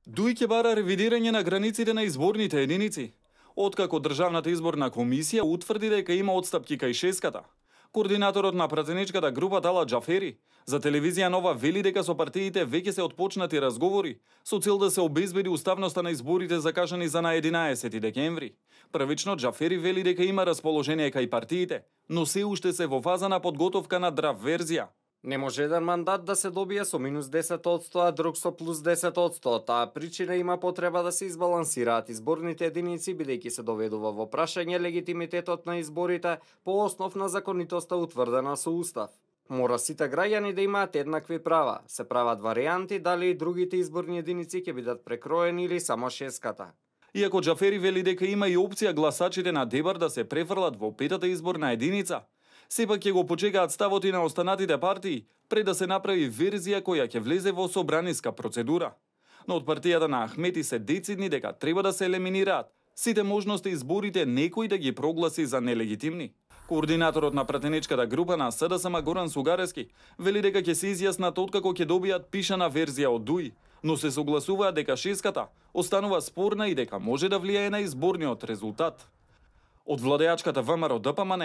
Дуј ќе бара ревидирање на границите на изборните единици, откако Државната изборна комисија утврди дека има отстапки кај шеската. Координаторот на пратеничката група Талат Џафери за телевизија Нова вели дека со партиите веќе се отпочнати разговори со цел да се обезбеди уставноста на изборите закажани за на 11 декември. Првично Џафери вели дека има расположение кај партиите, но се уште се во фаза на подготовка на драфт верзија. Не може еден мандат да се добие со минус 10%, а друг со плюс 10%. Таа причина има потреба да се избалансираат изборните единици, бидејќи се доведува во прашање легитимитетот на изборите по основ на законитоста утврдена со устав. Мора сите граѓани да имаат еднакви права. Се прават варијанти дали и другите изборни единици ќе бидат прекроени или само шеската. Иако Џафери вели дека има и опција гласачите на Дебар да се префрлат во петата изборна единица, сепак ќе го почекаат ставот и на останатите партии пред да се направи верзија која ќе влезе во собраниска процедура. Но од партијата на Ахмети се децидни дека треба да се елиминираат сите можности изборите некој да ги прогласи за нелегитимни. Координаторот на пратеничката група на СДСМ Горан Сугарески вели дека ќе се изјаснат откако ќе добијат пишана верзија од ДУИ, но се согласуваат дека шеската останува спорна и дека може да влијае на изборниот резултат. Од владеачката ВМРО ДПМН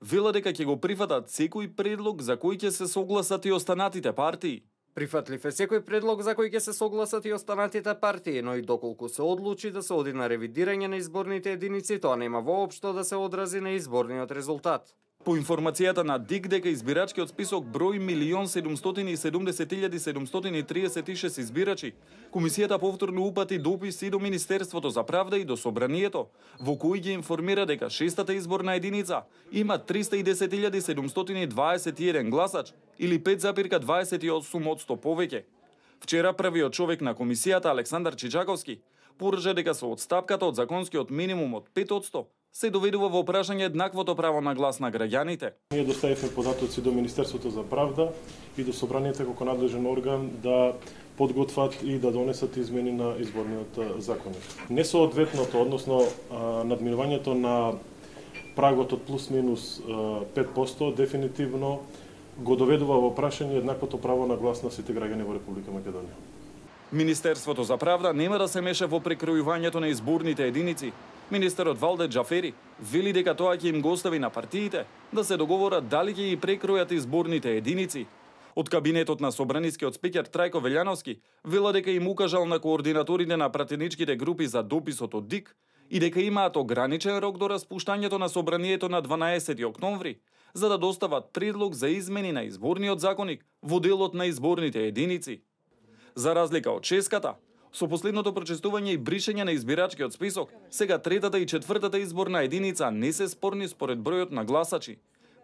вела дека ќе го прифатат секој предлог за кој ќе се согласат и останатите партии. Прифатлив е секој предлог за кој ќе се согласат и останатите партии, но и доколку се одлучи да се оди на ревидирање на изборните единици, тоа нема воопшто да се одрази на изборниот резултат. По информацијата на ДИК дека избирачкиот список број 1.770.736 избирачи, комисијата повторно упати допис и до Министерството за правда и до Собранието, во кој ги информира дека шестата изборна единица има 310.721 гласач или 5,28% повеќе. Вчера првиот човек на комисијата Александар Чичаковски порача дека со отстапката од законскиот минимум од 5% се доведува во прашање еднаквото право на глас на граѓаните. Ние доставивме податоци до Министерството за правда и до Собранието како надлежен орган да подготват и да донесат измени на изборниот законник. Несоодветното, односно надминувањето на прагот од плюс-минус 5% дефинитивно го доведува во прашање еднаквото право на глас на сите граѓани во Република Македонија. Министерството за правда нема да се меша во прекројувањето на изборните единици. Министерот Валде Џафери вели дека тоа ќе им го остави на партиите да се договорат дали ќе ги прекројат изборните единици. Од кабинетот на собранискиот спикер Трајко Велјановски вела дека им укажал на координаторите на пратеничките групи за дописот од ДИК и дека имаат ограничен рок до распуштањето на собранието на 12 октомври, за да достават предлог за измени на изборниот законник во делот на изборните единици. За разлика од шеската, со последното прочестување и бришење на избирачкиот список, сега третата и четвртата изборна единица не се спорни според бројот на гласачи.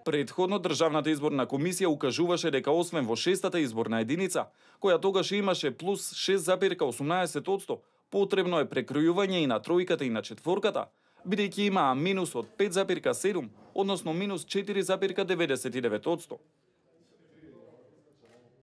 Предходно Државната изборна комисија укажуваше дека освен во шестата изборна единица, која тогаш имаше плюс 6,18%, потребно е прекројување и на тројката и на четворката, бидејќи имаа минус од 5,7, односно минус 4,99%.